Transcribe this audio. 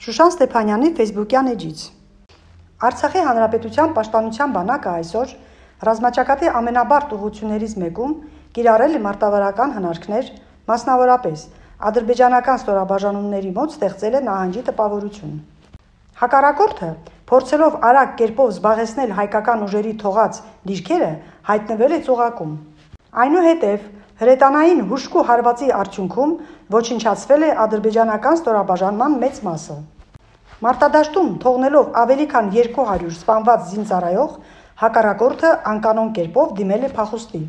Շուշան Ստեփանյանի ֆեյսբուքյան էջից։ Արցախի Հանրապետության պաշտպանության բանակը այսօր ռազմաճակատի ամենաբարդ ուղղություններից մեկում կիրառել է մարտավարական հնարքներ, մասնավորապես ադրբեջանական ստորաբաժանումների մոտ ստեղծել է նահանջի տպավորություն։ Հակառակորդը, փորձելով արագ կերպով զբաղեցնել հայկական ուժերի թողած դիրքերը, հայտնվել է ծուղակում։ Այնուհետև հրետանային հուժկու հարվածի արդյունքում ոչնչացվել է ադրբեջանական ստորաբաժանման մեծ մասը։ Մարտադաշտում թողնելով ավելի քան 200 սպանված զինծառայող, հակառակորդը անկանոն կերպով դիմել է փախուստի։